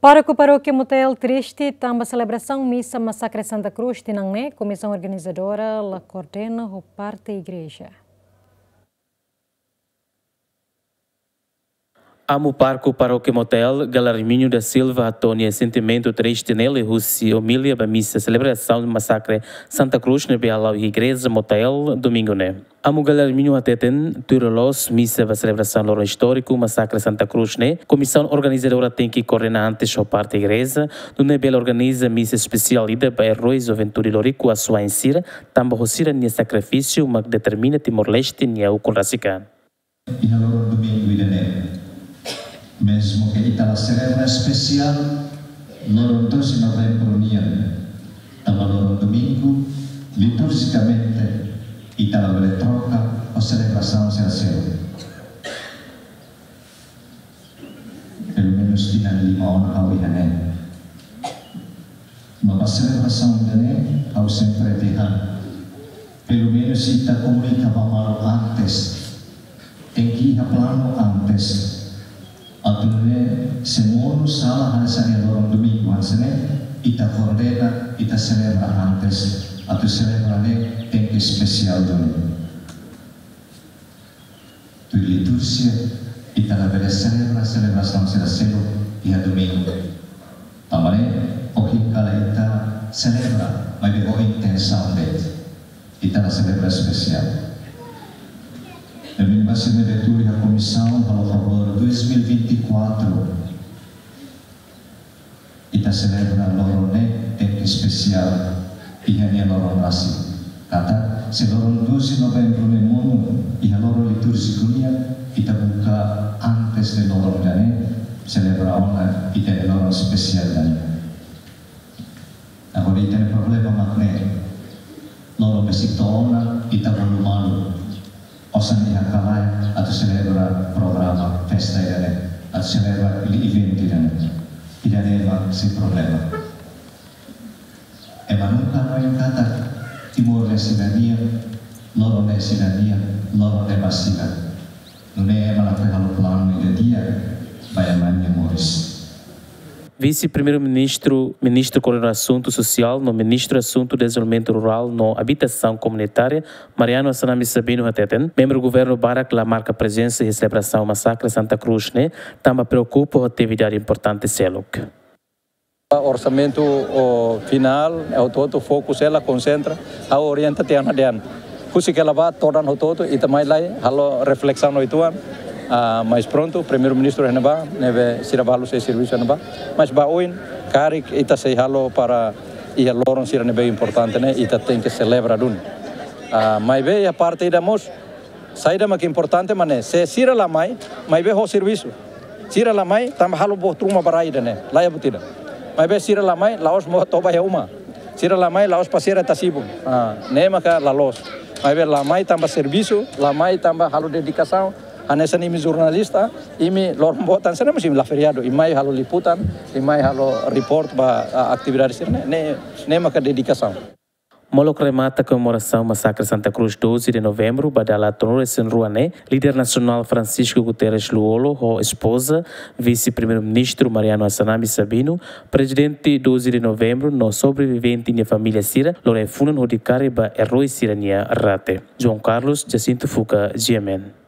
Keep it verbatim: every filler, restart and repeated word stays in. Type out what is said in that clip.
Pároku Parókia Motael triste tanba selebrasaun misa Masakre Santa Cruz tinan ne'e, komisaun organizadora la koordena ho parte igreja. Amu Pároku Parókia Motael, Galarmino da Silva, hato'o nia sentimentu triste ne'e liuhusi omilia ba misa selebrasaun Masakre Santa Cruz ne'ebé hala'o iha Igreja Motael, domingu ne'e. Amu Galarmino hateten, tuir loloos misa ba selebrasaun loron istóriku Masakre Santa Cruz ne'e, komisaun organizadora tenke koordena antes ho parte igreja, nune'e bele organiza misa espesiál ida ba erói juventude Loriku Asuwa'in sira, tanba ho sira-nia sakrifísiu mak determina Timor-Leste nia ukun rasik an. Iha loron domingu ida-ne'e, mezmu ke ita la selebra espesiál loron doze novembru nian, tanba loron domingu, liturjikamente, ita labele troka ho selebrasaun sira seluk. Pelumenus tinan lima ona ha'u iha ne'e. No ba selebrasaun ida-ne'e, ha'u sempre dehan, pelumenus ita komunika ba malu antes. Tenke iha planu antes. Atu nune'e, se monu sala hanesan iha loron domingu hanesan ne'e, ita koordena, ita selebra antes. Atu selebra ne'e tenke espesiál duni. Tuir liturjia, ita labele selebra selebrasaun sira seluk iha domingu. Tanba ne'e, ohin kala ita selebra, maibé ho intensaun de'it. Ita la selebra espesiál. Domingu ba sira ne'ebé tuur iha komisaun, halo favór, dois mil e vinte e quatro. Ita selebra loron ne'e tenke espesiál iha nia loron rasik. Katak, se loron doze novembru ne'e monu iha loron litúrjiku nian, ita buka antes de loron ida-ne'e, selebra ona ita-nia loron espesiál ida-ne'e. Agora ita-nia problema mak ne'e, loron besik to'o ona, ita bolu malu. Osan iha ka lae atu selebra programa festa ida-ne'e, atu selebra event ida-ne'e. Ida-ne'e mak sei problema. Ema nunka hanoin katak Timor ne'e sira-nian, loron ne'e sira-nian, loron ne'e ba sira. Nune'e ema lakohi halo planu ida di'ak ba ema nia moris. Vise-Primeiru-Ministru, Ministru Koordenadór Asuntu Sosiál no Ministru Asuntu Dezenvolvimentu Rurál no Abitasaun Komunitária, Mariano Assanami Sabino hateten, membru governu barak la marka prezensa iha selebrasaun Masakre Santa Cruz ne'e, tanba preokupa ho atividade importante seluk. Orsamentu, o, finál, hotu-hotu fokus hela konsentra, ha'u orienta tiha ona dehan. Husik hela ba todan hotu-hotu, ita mai lai, halo reflesaun uitoan, ah, mais prontu, Primeiru-Ministru iha ne'ebá, ne'ebé sira balu sei servisu iha ne'ebá. Mas ba oin, karik ita sei halo para iha loron sira ne'ebé importante ne'e, ita tenke selebra duni. Ah, maibé iha parte ida mós, saida mak importante mak ne'e, se sira la mai, maibé ho servisu. Sira la mai, tanba halo buat ruma ba rai ida-ne'e, la iha buat ida. Maibé sira la mai, la'ós mós toba iha uma. Sira la mai, la'ós pasiar iha Tasibun. Ah, ne'e maka la loos. Maibé la mai tanba servisu, la mai tanba halo dedikasaun. Hanesan imi jornalista, imi loron boot hanesan ne'e mós imi la feriadu, imi mai halo liputan, imi mai halo report ba, ah, atividade sira-ne'e, ne'e, ne'e maka dedikasaun. Molok remata komemorasaun Masakre Santa Cruz doze de Novembro, ba dala tolunulu-resin-rua ne'e, líder nasionál Francisco Guterres Lú-Olo ho espoza, Vise-Primeiru-Ministru Mariano Assanami Sabino, prezidente doze de Novembro no sobrevivente nia família sira, lori ai-funan hodi kari ba erói sira-nia rate. João Carlos, Jacinto Fuca, G M N.